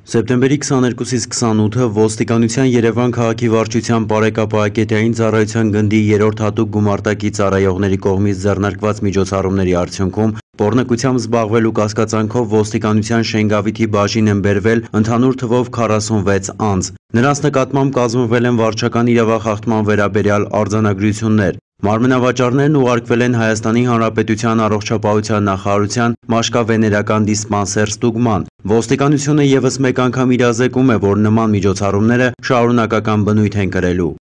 Սեպտեմբերի 22-ից 28-ը ոստիկանության Երևան քաղաքի վարչության բարեկապահակետային ծառայության գնդի 3-րդ հատուկ գումարտակի ծառայողների կողմից ձեռնարկված միջոցառումների արդյունքում պոռնկությամբ զբաղվելու կասկածանքով ոստիկանության Շենգավիթի բաժին են բերվել ընդհանուր թվով 46 անձ։ Նրանց նկատմամբ կազմվել են վարչական իրավախախտման վերաբերյալ արձանագրություններ։ Մարմնավաճառներն ուղարկվել են Հայաստանի Հանրապետության առողջապահության նախարարության մաշկավեներական դիսպանսեր ստուգման։ Ոստիկանությունը ևս մեկ անգամ իրազեկում է, որ նման միջոցառումները շարունակական բնույթ են կրելու։